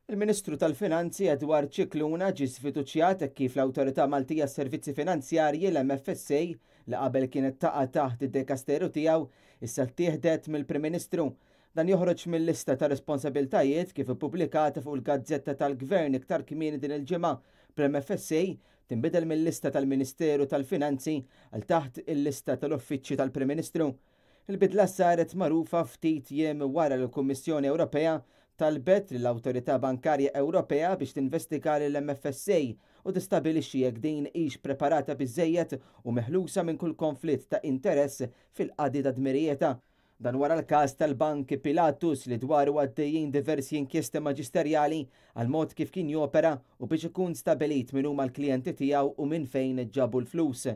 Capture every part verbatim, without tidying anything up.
Il-Ministru tal-Finanzi Edward Scicluna ġie sfiduċjat kif l-Awtorità Maltija Servizzi Finanzjarji, l-M F S A, li qabel kienet taqa' taħt id-dekasteru tiegħu, issa ttieħdet mill-Prim Ministru. Dan joħroġ mill-lista ta' responsabiltajiet kif ippubblikata fuq il-Gazzetta tal-Gvern iktar kmieni din il-ġimgħa, bl-M F S A tinbidel mill-lista tal-Ministeru tal-Finanzi għal taħt il-lista tal-Uffiċċju tal-Prim Ministru. Il-bidla saret magħrufa ftit jiem wara l-Kummissjoni Ewropea talbet l-Awtorità Bankarja Ewropea biex tinvestiga l-M F S A u tistabilixxi jekk din hix preparata biżejjed u meħlusa minn kull konflitt ta' interess fil-qadi ta' dmirijietha. Dan wara l-każ tal-Bank Pilatus, li dwaru għaddejjin diversi inkjesti maġisterjali għal mod kif kien jopera u biex ikun stabilit min huma l-klijenti tiegħu u minn fejn ġabu l-flus.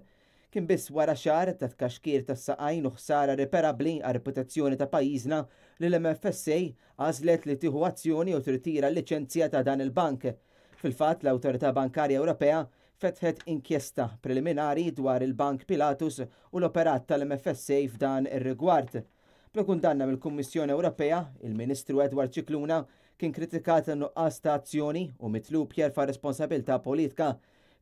Kien biss wara xahar ta' tkaxkir ta' saqajn u ħsara irreparabbli għar reputazzjoni ta' pajjiżna li l-M F S A għażlet li tieħu azzjoni u tirtira l-liċenzja ta' dan il-bank. Fil-fatt, l-Awtorità Bankarja Ewropea fetħet inkjesta preliminari dwar il-Bank Pilatus u l-operat tal-M F S A f'dan ir-rigward. Bla kundanna mill-Kummissjoni Ewropea, il-Ministru Edward Scicluna kien kritikat nuqqas ta' azzjoni u mitlub jerfa' responsabilità politika.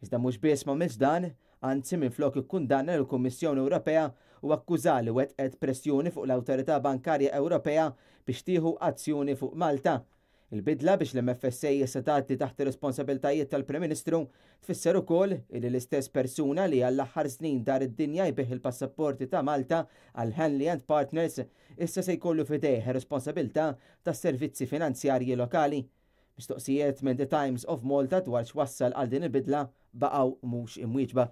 Iżda mhux biss m'għamilx dan, anzi minflok ikkundanna l-Kummissjoni Ewropea u akkuża li wettqet pressjoni fuq l-Awtorità Bankarja Ewropea biex tieħu azzjoni fuq Malta. Il-bidla biex l-M F S A issa tgħaddi taħt ir-responsabiltajiet tal-Prim Ministru tfisser ukoll li l-istess persuna li għall-aħħar snin dar id-dinja jbigħ il-passaporti ta' Malta għal Henley and Partners issa se jkollu f'idejh responsabilità tas-servizzi finanzjarji lokali. Mistoqsijiet minn The Times of Malta dwar x'wassal għal din il-bidla baqgħu mhux imwieġba.